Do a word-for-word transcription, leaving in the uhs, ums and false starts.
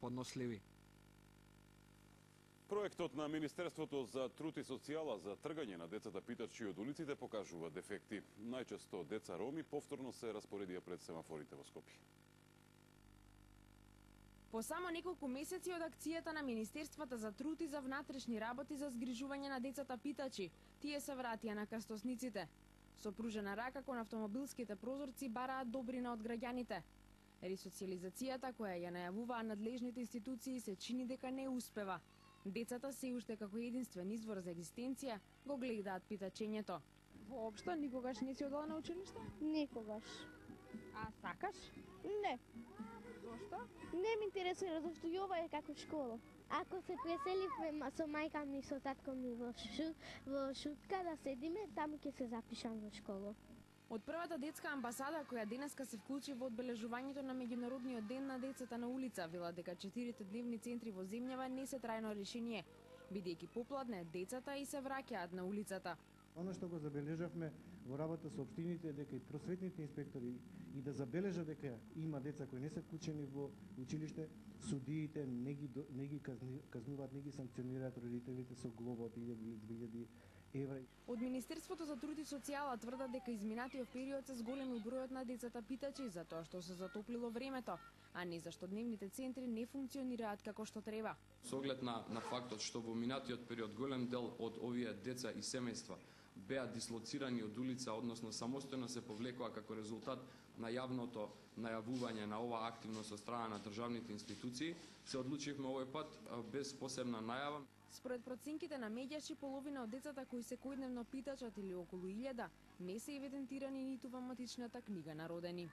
подносливи. Проектот на Министерството за труд и социјала за тргање на децата питачи од улиците покажува дефекти. Најчесто деца роми повторно се распоредија пред семафорите во Скопје. По само неколку месеци од акцијата на Министерствата за труд и за внатрешни работи за згрижување на децата питачи, тие се вратија на крстосниците. Со пружена рака кон автомобилските прозорци бараат добрина од граѓаните. Ресоциализацијата која ја најавуваа надлежните институции се чини дека не успева. Децата се уште како единствен извор за екзистенција го гледаат питачењето. Воопшто никогаш не си одела на училиште? Никогаш. А сакаш? Не. Зошто? Не ми интересира, зашто и ова е како школа. Ако се преселивме со мајка ми со татко ми во, шу, во Шутка да седиме, таму ќе се запишам во школа. Од првата детска амбасада која денеска се вклучи во одбележувањето на меѓународниот ден на децата на улица, вела дека четирите дневни центри во земјава не се трајно решение, бидејќи попладне децата и се враќаат на улицата. Оно што го забележавме во работа со општините е дека и просветните инспектори и да забележат дека има деца кои не се вклучени во училиште, судиите не ги не ги казнуваат, не ги санкционираат родителите со глоба од илјади и две илјади евра. Од Министерството за труд и социјала тврдат дека изминатиот период се зголемил бројот на децата питачи затоа што се затоплило времето, а не зашто дневните центри не функционираат како што треба. Со оглед на, на фактот што во минатиот период голем дел од овие деца и семејства беа дислоцирани од улица, односно самостојно се повлекоа како резултат на јавното најавување на ова активност од страна на државните институции, се одлучивме овој пат без посебна најава. Според проценките на медијаши, половина од децата кои секојдневно питачат или околу илјада не се евидентирани ниту во матичната книга на родени.